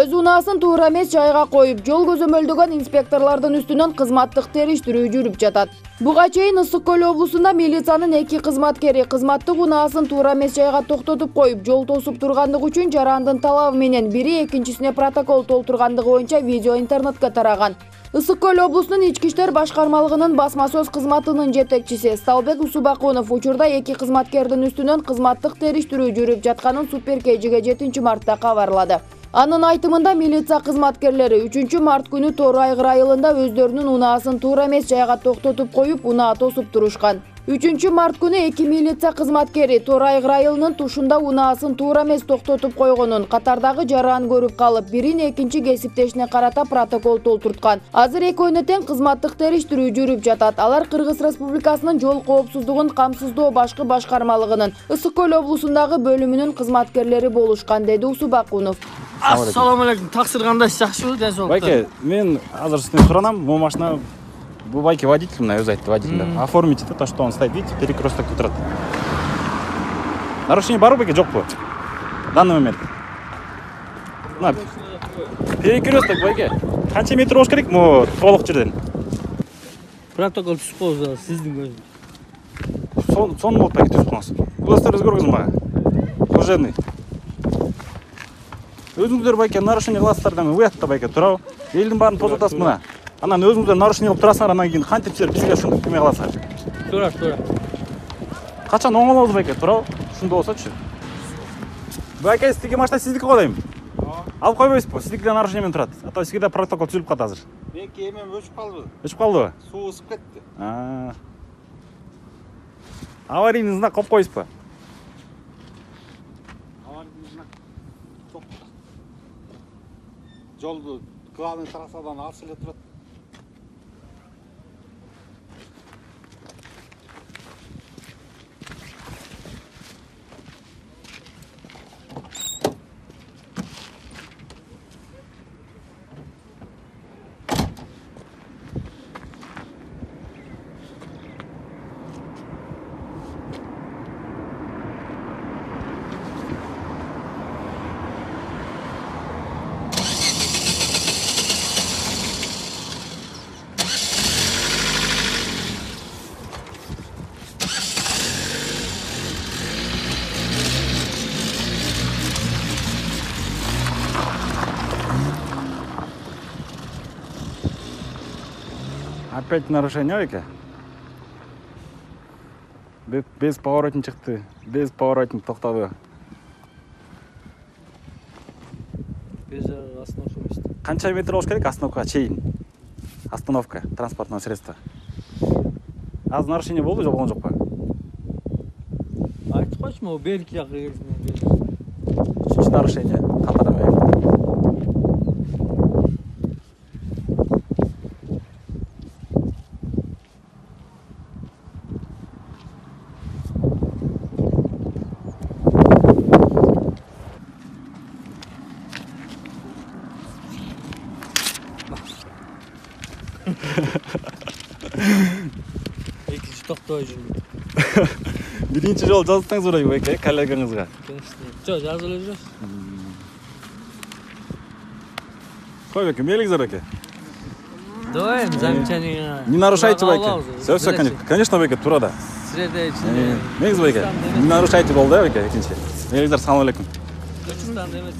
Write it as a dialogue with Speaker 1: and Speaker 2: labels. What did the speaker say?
Speaker 1: Өз унаасын туура эмес жайга коюп, жол көзөмөлдөгөн инспекторлордун үстүнөн кызматтык териштирүү жүрүп жатат. Буга чейин Ысык Көл облусунда милициянын 2 кызматкери кызматтык унаасын туура эмес жайга токтотуп коюп, жол тосуп тургандыгы үчүн жарандын талабы менен бири экинчисине протокол толтургандыгы боюнча видео интернетке тараган. Ысык Көл облусунун Ички иштер башкармалыгынын басма сөз кызматынын жетекчиси Сталбек Усубакунов учурда 2 кызматкердин үстүнөн кызматтык териштирүү жүрүп жатканын Супер KG'ге 7 мартта кабарлады. Анын айтымында милиция кызматкерлери 3 март күнү Тор Айгыр айылында өздөрүнүн унаасын туура эмес жайга токтотуп коюп, унаа тосуп турушкан. 3 март күнү 2 милиция кызматкери Тор Айгыр айылынын тушунда унаасын туура эмес токтотуп койгонун, катардагы жаран көрүп калып, бирин экинчи кесиптешине карата протокол толтурткан. Азыр экөөнө тең кызматтык териштирүү жүрүп жатат. Алар Кыргыз Республикасынын жол коопсуздугун камсыздоо башкы башкармалыгынын Ысык Көл облусундагы бөлүмүнүн кызматкерлери болушкан, деди Усубакунов.
Speaker 2: Assalomu alaykum. Тақсир кандай, жакшыбы, дезолук?
Speaker 3: Байке, мен азыр сизден суранам, бул машина бул байке водитель, мына өзү айтты водитель. Оформите то, что он стоит, видите, перекресток турат. Нарушение барбы байке, жокпу? В данный момент. На. Перекресток байке. Канча метр болуш керек могу толук жерден?
Speaker 2: Протокол түшүп калды сиздин көзүңүз.
Speaker 3: Сон болуп байке түшүп каласыз. Буластарды өзгөргүзүң мага. Служебный. Өзүңүздөр байке нарушение кыласыздар, уятта байке турабы. Элдин баарын тозотасыз мына. Анан өзүңүздөр нарушение кылып турасыңар, анан кийин кантип силер бизге ушинтип кеме кыласыңар?
Speaker 2: Туура.
Speaker 3: Качан оңолобуз байке, турабы? Ушундай болсочу. Байке, сизге машина сиздики го дейм. Алып койбойсузбу? Сиздики да нарушение менен турат. А то сизге да протокол түзүлүп калат азыр.
Speaker 4: Меники эмем өчүп калды.
Speaker 3: Өчүп калдыбы?
Speaker 4: Суу ысып кетти.
Speaker 3: Аварийный знак коюп койсузбу?
Speaker 4: Жолду главный трассадан алыс эле турат.
Speaker 3: Опять нарушение байке? Без поворотник чыкты, без поворотник токтоду.
Speaker 2: Без остановка эмес.
Speaker 3: Канча метр болуш керек остановкага чейин? Остановка, транспортное средство. Азыр нарушение болду же болгон жокпу?
Speaker 2: Айтып койчу, могу берки жакка келсин.
Speaker 3: Үчүнчү нарушение катары.
Speaker 2: Экинчи токтой жүрмүн.
Speaker 3: Биринчи жолу жазсаңыз бурай байке, коллегаңызга.
Speaker 2: Жок, жазып эле жүрөбүз.
Speaker 3: Кой байке, мейлиңиздер байке.
Speaker 2: Давай, замечание.
Speaker 3: Не нарушайте байке. Все, конечно байке, тура да.
Speaker 2: Средочный.
Speaker 3: Мейлиңиз байке. Не нарушайте болду байке, экинчи. Мейлиңиздер, салам алейкум.
Speaker 2: Түркистанда эмес.